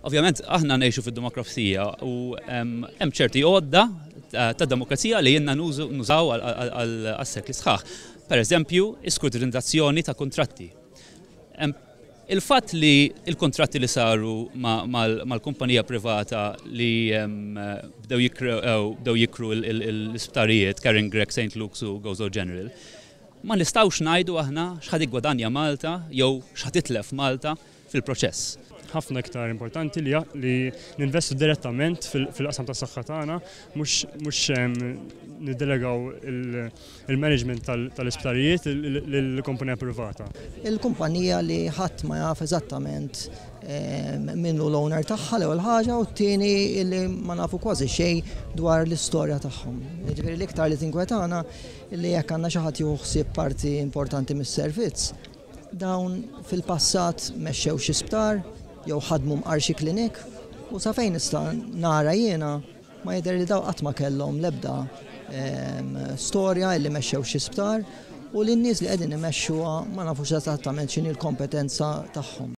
Ovvjament aħna ngħixu fid-demokrazija u hemm ċerti għodda ta' demokrazija li jenna nużaw għal sekli sħaħ. Per eżempju, iskrutinizzazzjoni ta' kontratti. Il-fatt li il-kontratti li saru mal-kumpanija privata li bdew jikru l-isptarijiet, Karen Grech, St. Luke's u Gozo General, ma nistgħux ngħidu aħna x'ħa tiggwadanja Malta jew x'ħa titlef Malta fil-proċess. Ħafna iktar importanti li ninvestu direttament fil-qasam tas saħħa tagħna, mhux niddelegaw il-management tal-isptarijiet lill-kumpanija privata. Il-kumpanija li ħadd ma jaf eżattament min hu l-owner tagħha, l-ewwel ħaġa, u t-tieni li ma nafu kważi xejn dwar l-istorja tagħhom. Ġifieri l-iktar li tinkwetana li jekk għandna xi ħadd jieħu parti importanti mis-servizz, dawn fil-passat mexxew xi sptar jew ħadmu mqar xi klinik, u sa fejn nista' nara jiena ma jidher li daw qatt ma kellhom l-ebda storja illi mexxew xi sptar, u li n-nies li qegħdin imexxuha ma nafux eżattament x'inhi l-kompetenza tagħhom.